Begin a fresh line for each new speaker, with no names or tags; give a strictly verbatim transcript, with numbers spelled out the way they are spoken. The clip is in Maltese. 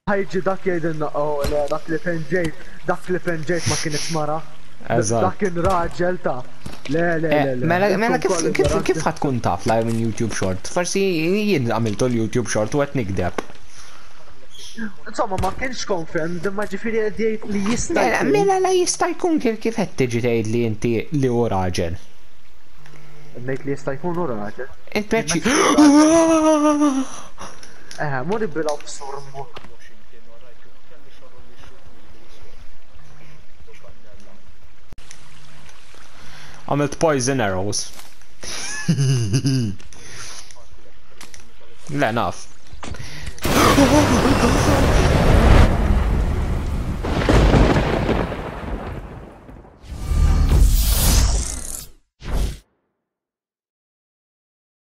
Ħa jiġi dak jgħidilna, oh le, dak li penġejt, dak li penġejt ma kienx mara.
Eżatt.
Dak kien raġel ta'. Le, le,
Eh,
le, le.
Mela, mela
Intom
kif
kollha
kif
ignoranti.
kif ħa tkun taf la minn YouTube short? Forsi jien għamiltu l-YouTube short u qed nikdeb.
Insomma, ma kienx confirmed, imma ġifieri qed jgħid li jista'
Mela,
jkun.
mela la jista' jkun kif kif qed tiġi tgħid li inti li hu raġel.
Ngħid li jista' jkun hu raġel.
Int meċi.
Eh, mur ibbilgħu f'surmu.
Għamilt poison arrows. Le, naf.